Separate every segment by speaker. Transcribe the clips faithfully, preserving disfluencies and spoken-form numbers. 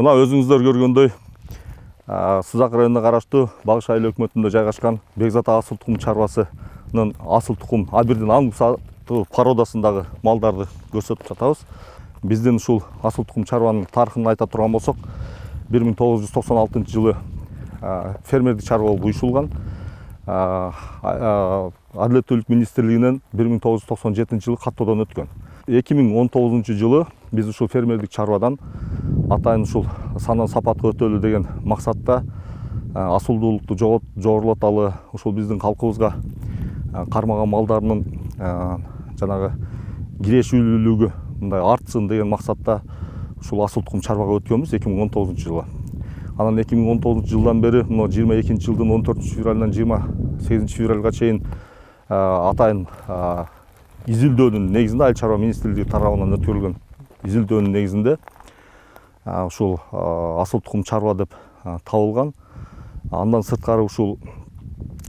Speaker 1: Мына өзүңүздөр көргөндөй Сызак районуна караштуу Багыш айыл өкмөтүндө жайгашкан Бекзат асыл тукум чарбасынын асыл тукум абирдин аңгы породасындагы малдарды көрсөтүп жатабыз. Биздин ушул асыл тукум чарбанын тарыхын айта турган болсок, бир миң тогуз жүз токсон алтынчы жылы фермердик чарба болуп уюшулган. Адилеттүүлүк министрлигинен бир миң тогуз жүз токсон жетинчи жылы каттоодон өткөн. эки миң он тогузунчу жылы биз ушул фермердик чарбадан атайын ушул сандан сапатка өтөлү деген максатта асылдуулукту жогорулаталы, ушул биздин калкыбызга кармаган малдарынын жанагы кирешүүлүгү мындай артсын деген максатта ушул асыл тукум чарбага өткөнбүз эки миң он тогузунчу жылы. Анан эки миң он тогузунчу жылдан бери мына жыйырма экинчи жылдын он төртүнчү февралынан жыйырма сегизинчи февралга чейин атайын изилдөөнүн негизинде, айыл чарба министрлиги тарабынан өткөрүлгөн изилдөөнүн негизинде ушул асыл тукум чарба деп табылган. Андан сырткары ушул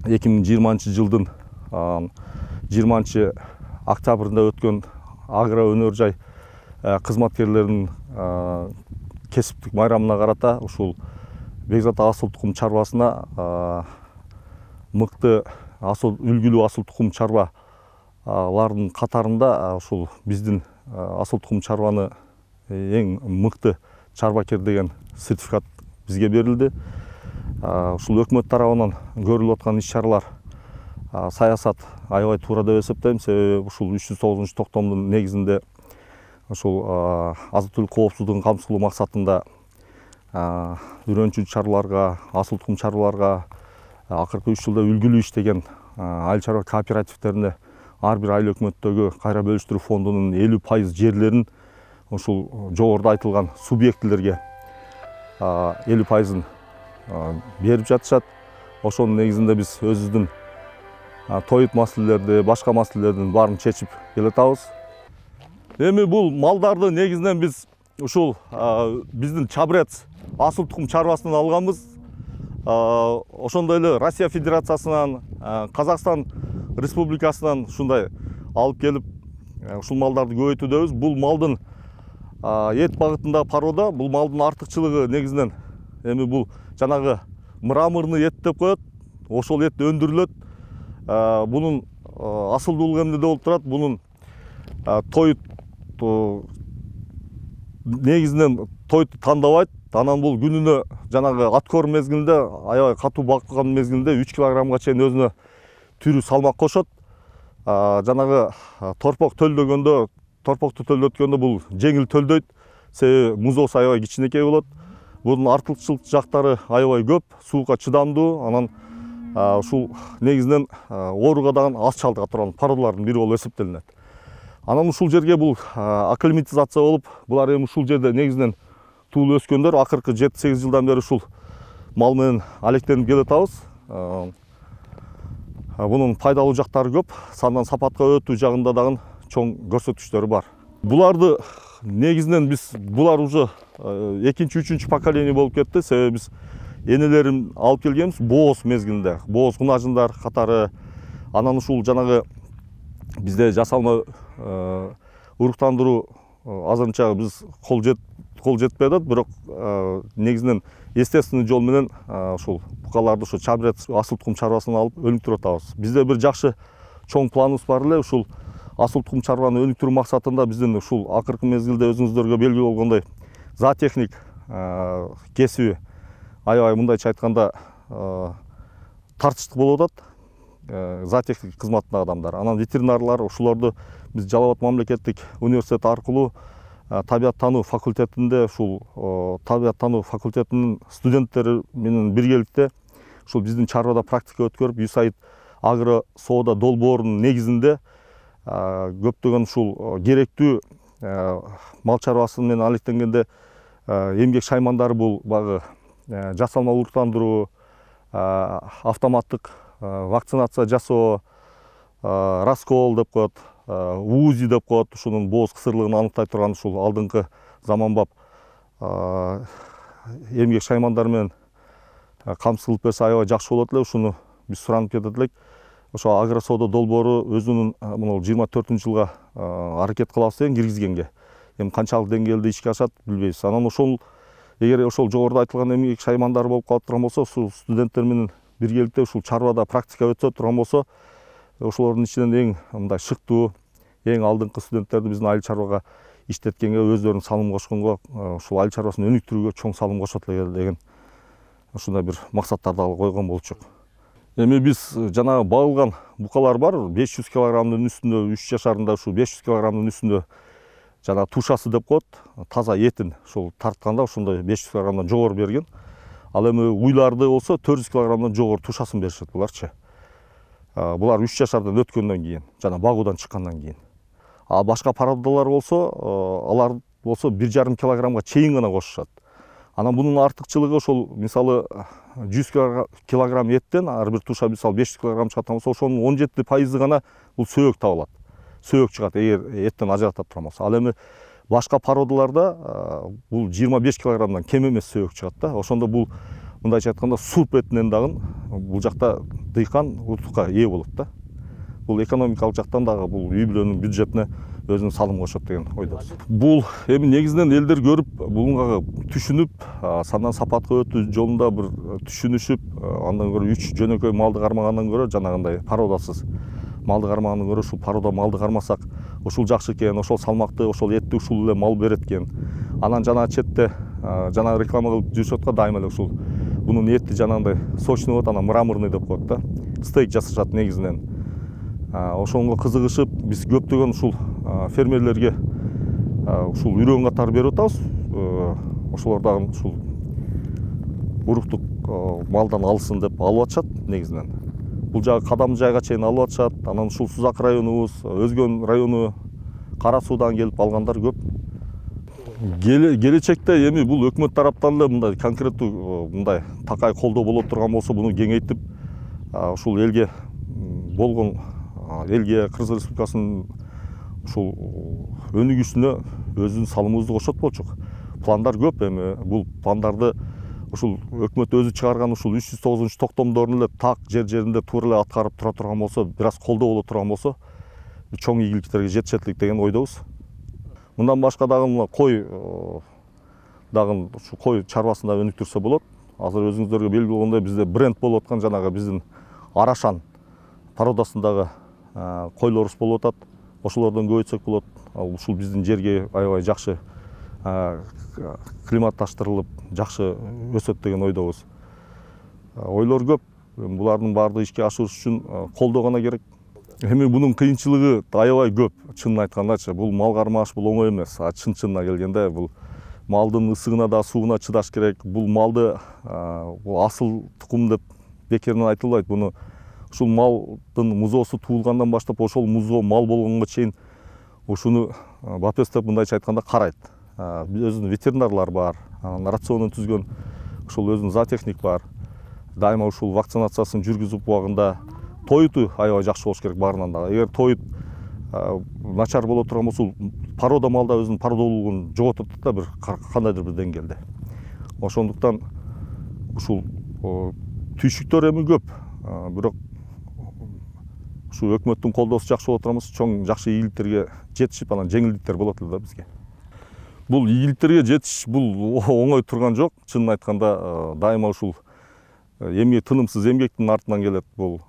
Speaker 1: эки миң жыйырманчы жылдын жыйырманчы октябрында өткөн агро өнөр жай кызматкерлеринин кесиптик майрамына карата ушул Бекзат асыл тукум чарбасына мыкты асыл үлгүлүү асыл тукум чарбалардын катарында ушул биздин асыл тукум чарбаны эң мыкты чарбакер деген сертификат бизге берилди. Ушул өкмөт тарабынан көрүлүп аткан иш-чаралар, саясат аябай туура деп эсептейм. Себеби ушул үч жүз тогузунчу токтомдун негизинде ушул азык-түлүк коопсуздугун камсыздоо максатында үрөнчү чарбаларга, асыл тукум чарбаларга акыркы үч жылда үлгүлүү иштеген айыл чарба кооперативтерине ар бир айыл өкмөттөгү кайра бөлүштүрүү фондунун элүү пайыз жерлерин ушул жогоруда айтылган субъектилерге элүү пайызын берип жатышат. Ошонун негизинде биз өзүбүздүн тоют маселелерди, башка маселелердин баарын чечип келатабыз. Эми бул малдарды негизинен биз ушул биздин Чабрец асыл тукум чарбасынан алганбыз. Ошондой эле Россия Федерациясынан, Казакстан Республикасынан ушундай алып келип ушул малдарды көбөйтүүдөбүз. Бул малдын эт багытындагы порода, бул малдын артыкчылыгы негизинен эми бул жанагы мраморный эт деп коет. Ошол эт өндүрүлөт. Бунун асылдуулугу эмнеде болуп турат? Бунун тоют негизинен тойту тандабайт. Анан бул күнүнө жанагы аткорм мезгилинде, аябай катуу бакылган мезгилинде үч килограммга чейин өзүнө түрү салмак кошот. Жанагы торпок төлдөгөндө, торпокту төлдөткөндө бул жеңил төлдөйт. Себеби музоосу аябай кичинекей болот. Бунун артыкчылык жактары аябай көп, суукка чыдамдуу. Анан ушул негизинен ооруга дагы аз чалдыга турган породалардын бири болуп эсептелинет. Анан ушул жерге бул акклиматизация болуп, булар эми ушул жерде негизинен туулуп өскөндөр. Акыркы жети сегиз жылдан бери ушул мал менен алектенип келатабыз. Бунун пайдалуу жактары көп. Сандан сапатка өтүү жагында дагы чоң көрсөткүчтөрү бар. Буларды негизинен биз булар уже экинчи, үчүнчү поколение болуп кетти. Себеби биз энелерин алып келгенбиз бооз мезгилинде. Бооз кунажындар катары. Анан ушул жанагы бизде жасалма уруктандыруу азырынча биз кол жет кол жетпей атат, бирок негизинен естественный жол менен ушул букаларды ушу Чабрец асыл тукум чарбасынан алып өнүктүрүп атабыз. Бизде бир жакшы чоң планыбыз бар эле. Ушул асыл тукум чарбаны өнүктүрүү максатында биздин ушул акыркы мезгилде өзүңүздөргө белгилүү болгондой зоотехник кесиби аябай мындайча айтканда тартыштуу болуп атат. Зоотехник кызматындагы адамдар. Анан ветеринарлар ушуларды биз Жалал Абад мамлекеттик университети аркылуу табияттануу факультетинде ушул табияттануу факультетинин студенттери менен биргеликте ушул биздин чарбада практика өткөрүп, ЮСАИД агро соода долбоорунун негизинде көптөгөн ушул керектүү мал чарбасы менен алектенгенде эмгек шаймандары бул багы жасалма уруктандыруу, автоматтык вакцинация жасоо, раскол деп коет, УЗИ деп коет, ушунун бооз кысырлыгын аныктай турган ушул алдыңкы заманбап эмгек шаймандар менен камсыздылып берсе аябай жакшы болот эле. Ушуну биз суранып кетет элек. Ошо агро соода долбоору өзүнүн мына жыйырма төртүнчү жылга аракет кылабыз деген киргизгенге. Эми канчалык деңгээлде ишке ашат билбейбиз. Анан ошол эгер ошол жогоруда айтылган эмгек шаймандары болуп калып турган болсо, ушул студенттер менен биргеликте ушул чарбада практика өтө турган болсо, ошолордун ичинен эң мындай шыктуу, эң алдыңкы студенттерди биздин айыл чарбага иштеткенге, өздөрүнүн салым кошконго, ушул айыл чарбасын өнүктүрүүгө чоң салым кошот эле деген ушундай бир максаттарды койгон болчук. Эми биз жанагы багылган букалар бар, беш жүз килограммдын үстүндө, үч жашарында ушул беш жүз килограммдын үстүндө жана тушасы деп коет, таза этин ушул тартканда ошондой беш жүз килограммдан жогору берген. Ал эми уйларды болсо төрт жүз килограммдан жогору тушасын беришет буларчы. Булар үч жашардан өткөндөн кийин, жана багуудан чыккандан кийин. А башка породалар болсо, алар болсо бир жарым килограммга чейин гана кошушат. Анан бунун артыкчылыгы ошол мисалы жүз килограмм эттен ар бир туша мисалы беш жүз килограмм чыгат болсо, ошонун он жети пайызы гана бул сөөк табылат. Сөөк чыгат эгер эттен ажыратат турган болсо. Ал эми башка породаларда бул жыйырма беш килограммдан кем эмес сөөк чыгат да. Ошондо бул мындайча айтканда сурп этинен дагы бул жакта дыйкан утукка ээ болот да. Бул экономикалык жактан дагы бул үй бүлөнүн бюджетине өзүнүн салым кошот деген ойдобуз. Бул эми негизинен элдер көрүп, буга түшүнүп, сандан сапатка өтүү жолунда бир түшүнүшүп, андан көрө үч жөнөкөй малды кармагандан көрө жанагындай породасыз малды кармагандан көрө ушул порода малды кармасак, ушул жакшы экен, ошол салмакты, ошол этти ушул эле мал берет экен. Анан жана четте жана реклама кылып жүрүшөт го дайыма эле ушул бунун эти жанагындай сочный болот, анан мраморный деп коет да. Стейк жасашат негизинен. Ошонго кызыгышып, биз көптөгөн ушул фермерлерге ушул үйрөн катары берип атабыз. Ошолор дагы ушул уруктук малдан алсын деп алып атышат негизинен. Бул жагы кадам жайга чейин алып атышат. Анан ушул Сузак районубуз, Өзгөн району, Кара Суудан келип алгандар көп. Келечекте эми бул өкмөт тараптан эле мындай конкреттүү мындай такай колдоо боло турган болсо, буну кеңейтип, ушул элге болгон элге Кыргыз Республикасынын ушул өнүгүшүнө өзүнүн салымыбызды кошот болчук. Пландар көп, эми бул пландарды ушул өкмөт өзү чыгарган ушул үч жүз тогузунчу токтомдорун эле так жер жеринде туура эле аткарып тура турган болсо, бир аз колдоо боло турган болсо, чоң ийгиликтерге жетишет элек деген ойдобуз. Мындан башка дагы мына кой дагы ушу кой чарбасын да өнүктүрсө болот. Азыр өзүңүздөргө белгилүү болгондой бизде бренд болуп аткан жанагы биздин Арашан породасындагы койлорубуз болуп атат. Ошолордон көбөйтсөк болот. Ушул биздин жерге аябай жакшы климатташтырылып, жакшы өсөт деген ойдобуз. Ойлор көп. Булардын баардыгы ишке ашырыш үчүн колдоо гана керек. Эми бунун кыйынчылыгы аябай көп. Чынын айткандачы, бул мал кармаш бул оңой эмес. Чын-чынына келгенде бул малдын ысыгына да, сууна чыдаш керек. Бул малды бул асыл тукум деп бекеринен айтылбайт. Буну ушул малдын музоосу туулгандан баштап ошол музоо мал болгонго чейин ушуну БАПЕС деп мындайча айтканда карайт. Өзүнүн ветеринарлар бар, рационун түзгөн ушул өзүнүн зоотехник бар. Дайыма ушул вакцинациясын жүргүзүп убагында тоюту аябай жакшы болуш керек баарынан дагы. Эгер тоют начар боло турган болсо, порода малда өзүнүн породолугун жоготот да бир кандайдыр бир деңгээлде. Ошондуктан ушул түйшүктөр эми көп, бирок ушу өкмөттүн колдоосу жакшы боло турган болсо, чоң жакшы ийгиликтерге жетишип, анан жеңилдиктер болот эле да бизге. Бул ийгиликтерге жетиш бул оңой турган жок. Чынын айтканда дайыма ушул эмгек тынымсыз эмгектин артынан келет, бул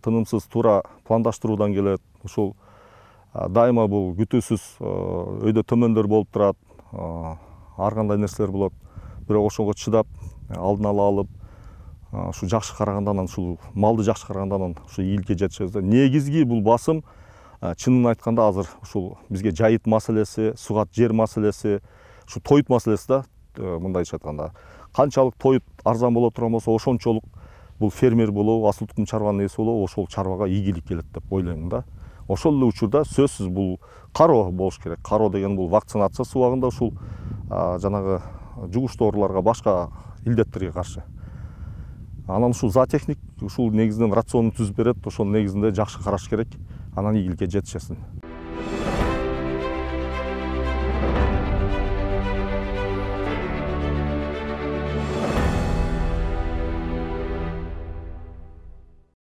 Speaker 1: тынымсыз туура пландаштыруудан келет. Ушул дайыма бул күтүүсүз өйдө төмөндөр болуп турат, ар кандай нерселер болот. Бирок ошого чыдап, алдын ала алып, ушу жакшы караганда, анан ушул малды жакшы караганда, анан ушу ийгиликке жетишебиз да. Негизги бул басым чынын айтканда азыр ушул бизге жайыт маселеси, сугат жер маселеси, ушу тоют маселеси да, мындайча айтканда. Канчалык тоют арзан боло турган болсо, ошончолук бул фермер болобу, асыл тукум чарбанын ээси болобу, ошол чарбага ийгилик келет деп ойлойм да. Ошол эле учурда сөзсүз бул кароо болуш керек. Кароо деген бул вакцинация убагында ушул жанагы жугуштуу ооруларга, башка илдеттерге каршы. Анан ушул зоотехник ушул негизинен рационун түзүп берет, ошонун негизинде жакшы караш керек, анан ийгиликке жетишесиң.